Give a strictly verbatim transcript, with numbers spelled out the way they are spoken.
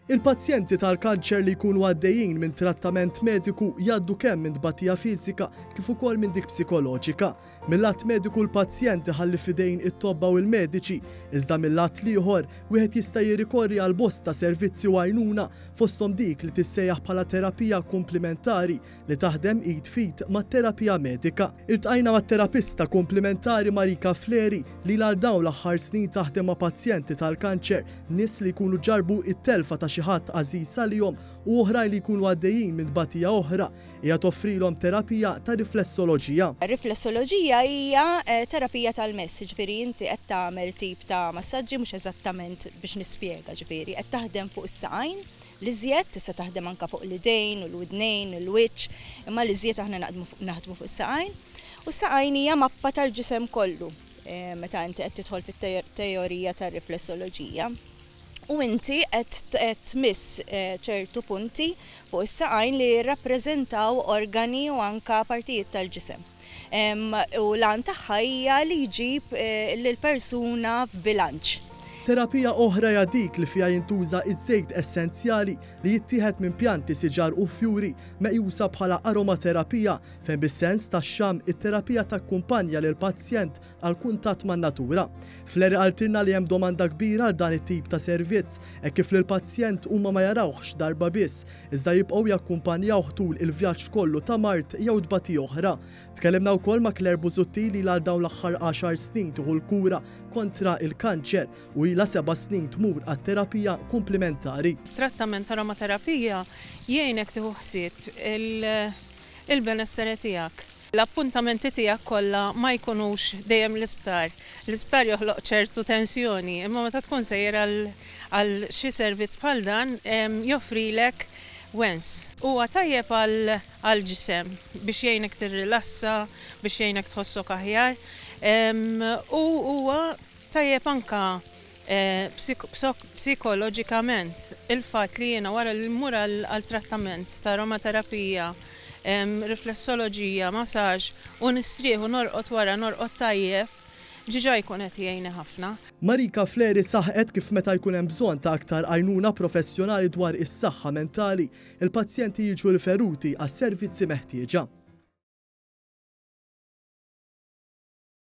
Il-pazjenti tal-kanċer li jkunu għaddejjin minn trattament mediku jgħaddu kemm minn tbatija fiżika kif ukoll minn dik psikoloġika. Mill-lat mediku l-pazjent iħalli f'idejn it-tobba u l-mediċi, iżda mill-lat l-ieħor wieħed jista' jirrikorri għal bosta servizzi u għajnuna, fosthom dik li tissejjaħ bħala terapija kumplimentari li taħdem id f'id mat-terapija medika. Iltqajna mat-terapista kumplimentari Marika Fleri li għal dawn l-aħħar snin taħdem ma' pazjenti tal-kanċer, nies li jkunu ġarbu it-telfa ta' xi ħadd għażiż għalihom u oħrajn li jkunu għaddejjin minn tbatija oħra. Hija toffrilhom terapija ta' riflessoloġija. Riflessoloġija hija eh, terapija tal-mess, ġifieri inti qed tagħmel tip ta' massaġġi, mhux eżattament biex nispjega, ġifieri qed taħdem fuq is-saqajn, l-iżjed tista' taħdem anka fuq l-idejn u l-widnejn, il-wiċċ, imma l-iżjed aħna naħdmu fuq is-saqajn. U s-saqajn hija mappa tal-ġisem kollu eh, meta inti qed tidħol fit-teorija tar-riflessoloġija. U inti qed tmiss eh, ċertu punti fuq is-saqajn li jirrappreżentaw organi u anka partijiet tal-ġisem. U l-għan tagħha hija li jġib eh, lill-persuna f'bilanċ. Terapija oħra hija dik li fiha jintuża iż-żejt essenzjali li jittieħed minn pjanti, siġar u fjuri, meqjusa bħala aromaterapija, fejn bis-sens tax-xamm it-terapija takkumpanja lil pazjent għal kuntatt man-natura. Fleri qaltilna li hemm domanda kbira għal dan it-tip ta' servizz e kif lil pazjent huma ma jarawhx darba biss, iżda jibqgħu jakkumpanjawh tul il-vjaġġ kollu ta' mard jew tbatija oħra. Tkellimna wkoll ma' Claire Busuttil li għal dawn l-aħħar għaxar snin tieħu l-kura kontra il-kanċer u ilha seba' snin tmur għat-terapija kumplimentari. Trattament aromaterapija jgħinek tieħu ħsieb il-benessere tiegħek. L-appuntamenti tiegħek kollha ma jkunux dejjem l-isptar. L-isptar joħloq ċertu tensjoni, imma meta tkun sejjer għal xi servizz bħal dan joffrilek wens. Huwa tajjeb għal ġisem biex jgħinek tirrilassa, biex jgħinek tħossok aħjar. U huwa tajjeb anka eh, psikoloġikament, il-fatt li jiena wara li mmur għal trattament ta' aromaterapija, riflessoloġija, massaġ u nistrieħ u norqod wara, norqod tajjeb, diġà jkun qed jgħinni ħafna. Marika Fleri saħqet kif meta jkun hemm bżonn ta' aktar għajnuna professjonali dwar is-saħħa mentali, il-pazjenti jiġu riferuti għas-servizzi meħtieġa.